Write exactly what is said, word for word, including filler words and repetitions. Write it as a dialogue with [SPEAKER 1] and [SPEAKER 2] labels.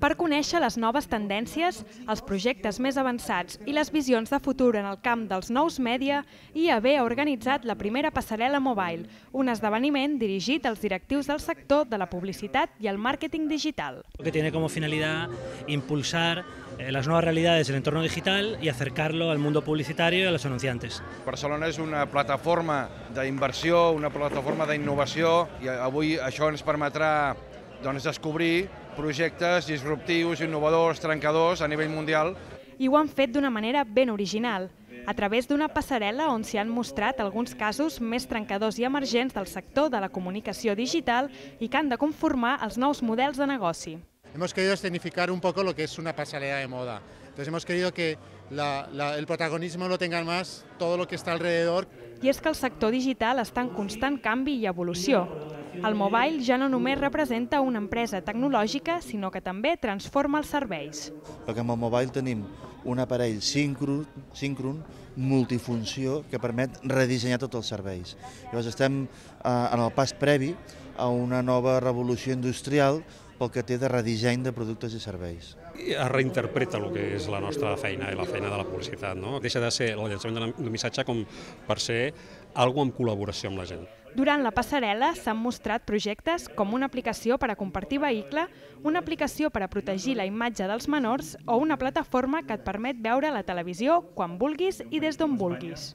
[SPEAKER 1] Per conèixer les noves tendències, els projectes més avançats i les visions de futur en el camp dels nous mèdia, I A B ha organitzat la primera passarel·la mobile, un esdeveniment dirigit als directius del sector de la publicitat i el màrqueting digital.
[SPEAKER 2] Que tiene como finalidad impulsar las nuevas realidades del entorno digital y acercarlo al mundo publicitario y a los anunciantes.
[SPEAKER 3] Barcelona és una plataforma d'inversió, una plataforma d'innovació i avui això ens permetrà doncs, descobrir projectes disruptius, innovadors, trencadors a nivell mundial.
[SPEAKER 1] I ho han fet d'una manera ben original, a través d'una passarel·la on s'hi han mostrat alguns casos més trencadors i emergents del sector de la comunicació digital i que han de conformar els nous models de negoci.
[SPEAKER 4] Hemos querido escenificar un poco lo que es una pasarela de moda. Entonces hemos querido que la, la, el protagonismo lo tengan más todo lo que está alrededor.
[SPEAKER 1] I és que el sector digital està en constant canvi i evolució. El mobile ja no només representa una empresa tecnològica, sinó que també transforma els serveis.
[SPEAKER 5] Perquè amb el mobile tenim un aparell síncron, síncron multifunció, que permet redissenyar tots els serveis. Llavors estem eh, en el pas previ a una nova revolució industrial pel que té de redisseny de productes i serveis.
[SPEAKER 6] Es reinterpreta el que és la nostra feina i la feina de la publicitat. No? Deixa de ser el llançament d'un missatge com per ser alguna en col·laboració amb la gent.
[SPEAKER 1] Durant la passarel·la s'han mostrat projectes com una aplicació per a compartir vehicle, una aplicació per a protegir la imatge dels menors o una plataforma que et permet veure la televisió quan vulguis i des d'on vulguis.